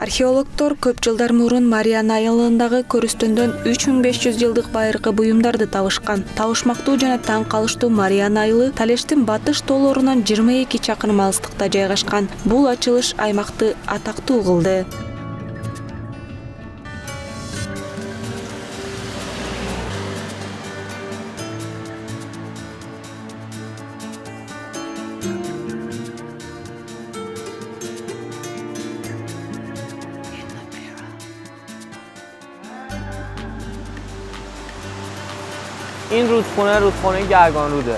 Археологдор көп жылдар мурун Мариана айылындагы көрүстөндөн 3500 жылдык байыркы буюмдарды табышкан. Табышмактуу жана таң калыштуу Мариана айылы Талештин батыш тоолорунан 22 чакырым алыстыкта жайгашкан. Бул ачылыш аймакты атактуу кылды. این رودخونه گرگانروده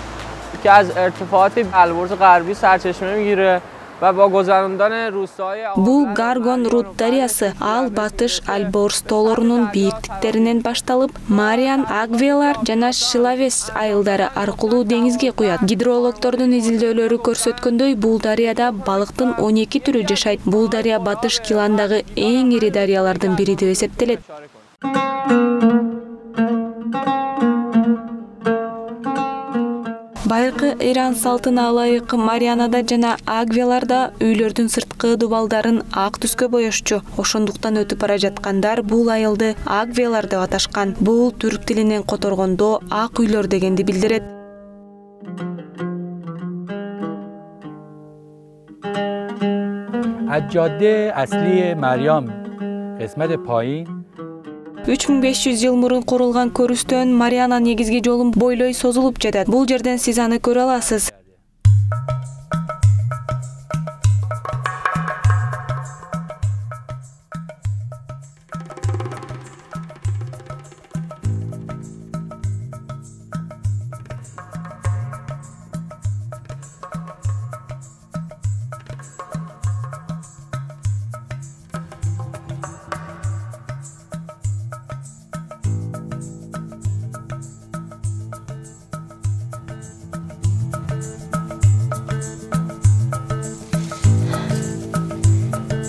که از ارتفاعات البرز غربی سرچشمه میگیره و با گذراندن روستاهای Бул Гаргон Руд дарыясы ал батыш Альборс тоолорунун бийиктиктеринен башталып, Мариан, Агвелар жана Шилавес айылдары аркылуу деңизге куят. Гидрологдордун изилдөөлөрү көрсөткөндөй, бул дарыяда балыктын 12 түрү жашайт. Бул дарыя батыш Киландагы эң ири дарыялардын бири деп эсептелет. Байыркы Иран салтына ылайык Марианада жана Агвеларда үйлөрдүн сырткы дубалдарын ак түскө боешчу. Ошондуктан өтүп бара жаткандар бул айылды Агвелар деп аташкан. Бул түрк тилинен которгондо ак үйлөр дегенди билдирет. جاده اصلی مریم قسمت پایین 3500 жыл мурун курулган көрүстөн Мариана негизги жолун бойлой созулуп жатат. Бул жерден сиз аны көрө аласыз.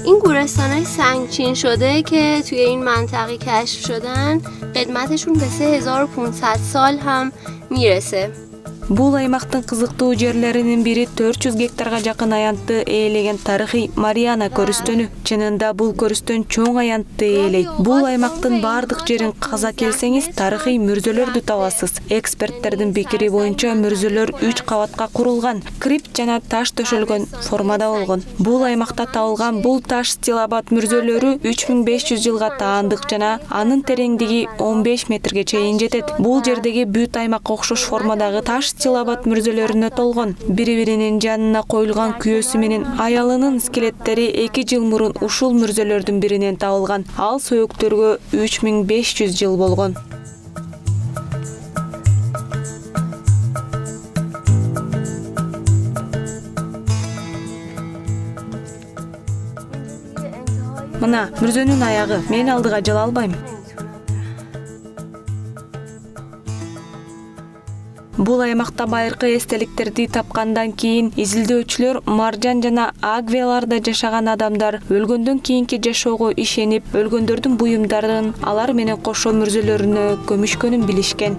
این گورستان‌های سنگچین شده که توی این منطقه کشف شدن قدمتشون به 3500 سال هم میرسه. Бул аймактын кызыктуу жерлеринин бири 400 гектарга жакын аянтты ээлеген тарыхый Мариана көрүстөнү. Чынында бул көрүстөн чоң аянтты ээлейт. Бул аймактын бардык жерин каза келсеңиз, тарыхый мүрзөлөрдү табасыз. Эксперттердин пикири боюнча мүрзөлөр 3 кабатка курулган, крипт жана таш төшөлгөн формада болгон. Бул аймакта табылган бул таш стилобат мүрзөлөрү 3500 жылга таандык жана анын тереңдиги 15 метрге чейин жетет. Бул жердеги бүт аймакка окшош формадагы таш стилобат мүрзөлөрүнө толгон. Бири-биринин жанына коюлган күйөөсү менен аялынын скелеттери 2 жыл мурун ушул мүрзөлөрдүн биринен табылган. Ал сөйөктөргө 3500 жыл болгон. Мына мүрзөнүн аягы. Мен алдыга жала албайм. Бул аймакта байыркы эстеликтерди тапкандан кийин изилдөөчүлөр Маржан жана Агвеларда жашаган адамдар өлгөндөн кийинки жашоого ишенип, өлгөндөрдүн буюмдарын алар менен кошо мүрзөлөрүнө көмүшкөнүн билишкен.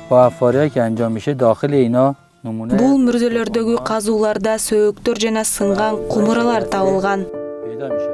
با افاریایی که انجام میشه داخل اینا نمونه Бул мүрзөлөрдөгү казууларда сөйөктөр жана сынган кумуралар табылган. پیدا میشه.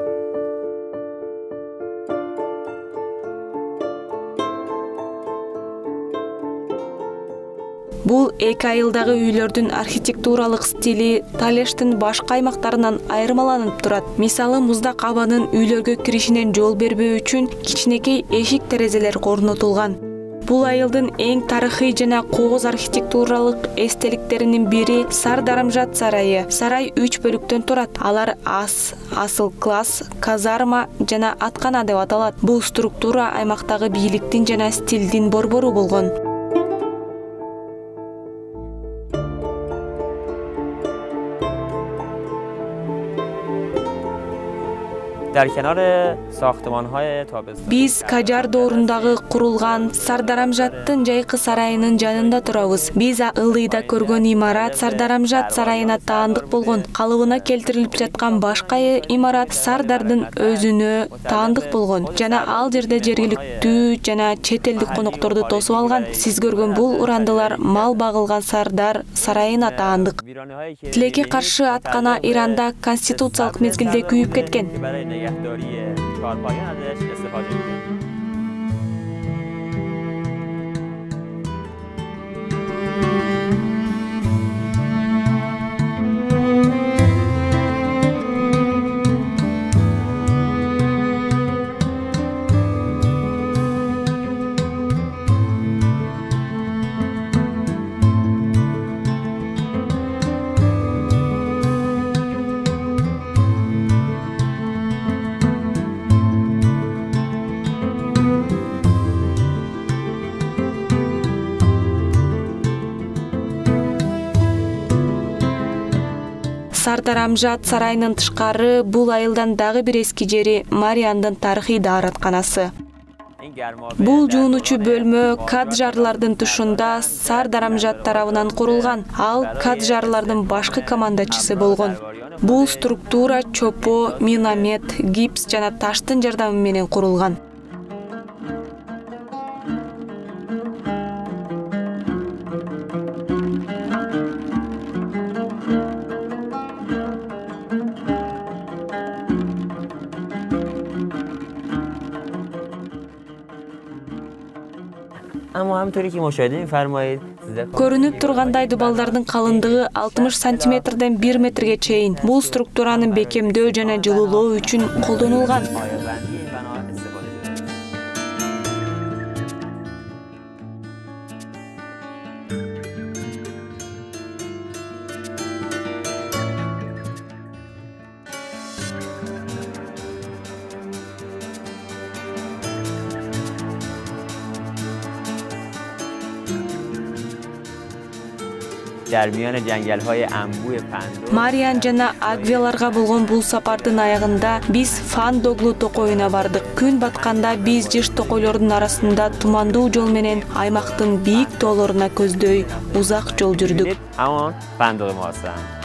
Бул эки айылдагы үйлөрдүн архитектуралык стили Талештин башка аймактарынан айырмаланып турат. Мисалы, муздак абанын үйлөргө киришинен жол бербөө үчүн кичинекей эшик терезелер орнотулган. Бул айылдын эң тарыхый жана кооз архитектуралык эстеликтеринин бири Сардарамжат сарайы. Сарай 3 бөлүктөн турат. Алар ас, асыл класс, казарма жана аткана деп аталат. Бул структура аймактагы бийликтин жана стилдин борбору болгон. در کنار ساختمان‌های تابستان. Биз Кажар доорундағы курулган Сардарамжаттын жайкы сарайынын жанында турабыз. Биз ылдыйда көргөн имарат Сардарамжат сарайына таандык болгон. Калыбына келтирилип жаткан башка имарат Сардардын өзүнө таандык болгон. Жана ал жерде жергиликтүү жана чет элдик конокторду тосуп алган. Сиз көргөн бул урандылар мал багылган Сардар сарайына таандык. Тилекке каршы аткана Иранда конституциялык мезгилде күйүп кеткен. برای نگهداری چهارپایان ازش استفاده می‌کنه. Сардарамжат сарайынын тышкары бул айылдан дагы бир эски жери Мариандын тарыхый дааратканасы. Бул жуунучу бөлмө Каджарлардын тушунда Сардарамжат тарабынан курулган. Ал Каджарлардын башкы командачысы болгон. Бул структура чопо, миномет, гипс жана таштын жардамы менен курулган. اما همونطوری که مشاهده می‌فرمایید Көрүнүп тургандай дубалдардын калындыгы 60 сантиметрден 1 метрге чейин. Бул структураны бекемдөө жана жылуулоо үчүн колдонулган. در میان جنگل‌های انبوه پندو Мариан жана Агвеларга болгон бул сапардын аягында биз Фандоглу токойуна бардык. Күн батканда биз жыш токойлордун арасында тумандуу жол менен аймактын бийик тоолоруна көздөй узак жол жүрдүк. همون فندق ما هستن.